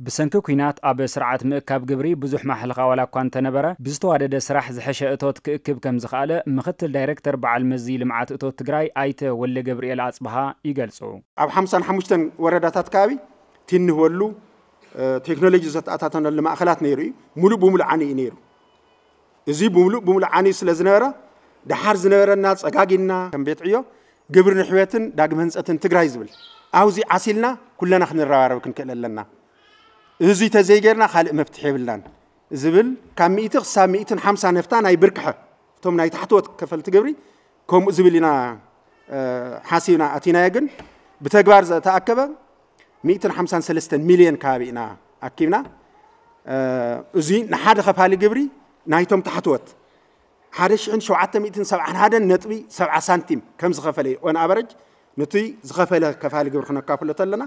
ብሰንኪ ኲናት ኣብ ስርዓት ምእካብ ግብሪ ብዙሕ ማሕለኻ ዋላ እኳ እንተነበረ፣ ብዝተዋደደ ስራሕ ዝሐሸ እቶት ክእክብ ከም ዝኸኣለ ምኽትል ዳይሬክተር በዓል መዚ ልምዓት እቶት ትግራይ ኣይተ ወልደ ገብርኤል ኣጽብሃ ይገልጹ። ኣብ ሓምሳን ሓሙሽተን ወረዳታት ከባቢ ትንህወሉ ቴክኖሎጂ ዘተኣታተነሉ ማእኸላት ነይሩ እዩ። ሙሉእ ብሙሉእ ዓኒ እዩ ነይሩ። እዚ ብምሉእ ብምሉእ ዓንዩ ስለ ዝነበረ፣ ደሓር ዝነበረና ጸጋጊና ከም ቤት ዕዮ ግብሪ ንሕውየትን ዳግመ ህንጸትን ትግራይ ዝብል፣ ኣብዚ ዓሲልና ኩለና ክንረባረብ ክንክእል ኣለና። እዚ ተዘይጌርና ካልእ መፍትሒ የብልናን ዝብል፣ ካብ ሚእቲ ክሳብ ሚእትን ሓምሳ ነፍታ ናይ ብርክሐ እቶም ናይ ታሕተዎት ከፈልቲ ግብሪ ከምኡ ዝብል ኢና ሓሲብና ኣቲናዮ። ግን ብተግባር ዝተኣከበ ሚእትን ሓምሳን ሰለስተን ሚልዮን ከባቢ ኢና ኣኪብና። እዚ ንሓደ ከፋሊ ግብሪ ናይቶም ታሕተዎት ሓደ ሽሕን ሸውዓተ ሚእትን ሰብዓን ሓደን ነጥቢ ሰብዓ ሳንቲም ከም ዝኸፈለ እዩ። ኦን ኣቨረጅ ነቲ ዝኸፈለ ከፋሊ ግብሪ ክነካፍሎ ተለና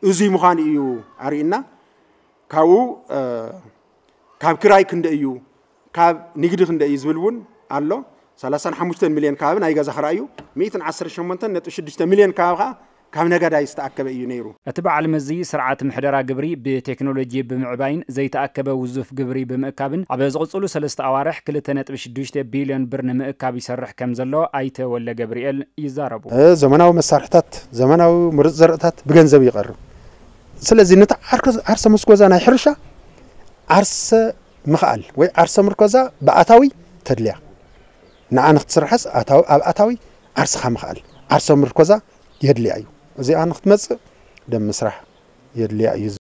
እዚ ምዃኑ እዩ ኣርእና። ካብኡ ካብ ክራይ ክንደ እዩ፣ ካብ ንግዲ ክንደ እዩ ዝብል እውን ኣሎ። ሰላሳን ሓሙሽተን ሚልዮን ከባቢ ናይ ገዛ ክራይ እዩ። ሚእትን ዓሰርተ ሸሞንተን ነጥቢ ሽዱሽተ ሚልዮን ከባቢ ከዓ ካብ ነጋዳይ ዝተኣከበ እዩ ነይሩ። እቲ በዓል መዚ ስርዓት ምሕደራ ግብሪ ብቴክኖሎጂ ብምዕባይን ዘይተኣከበ ውዙፍ ግብሪ ብምእካብን ኣብ ዝቕፅሉ ሰለስተ ኣዋርሕ ክልተ ነጥቢ ሽዱሽተ ቢልዮን ብር ንምእካብ ይሰርሕ ከም ዘሎ ኣይተ ወልደ ገብርኤል ይዛረቡ። ዘመናዊ መሳርሕታት፣ ዘመናዊ ምሩፅ ዘርእታት ብገንዘብ ይቐርብ። ስለዚ ነቲ ዓርሰ ምርኮዛ ናይ ሕርሻ ዓርሰ ምኽኣል ወይ ዓርሰ ምርኮዛ ብኣታዊ ተድልያ ንዓ ንክትስርሐስ ኣብ ኣታዊ ዓርስኻ ምኽኣል ዓርሰ ምርኮዛ የድልያ እዩ። እዚኣ ንክትመፅእ ደም ምስራሕ የድልያ እዩ።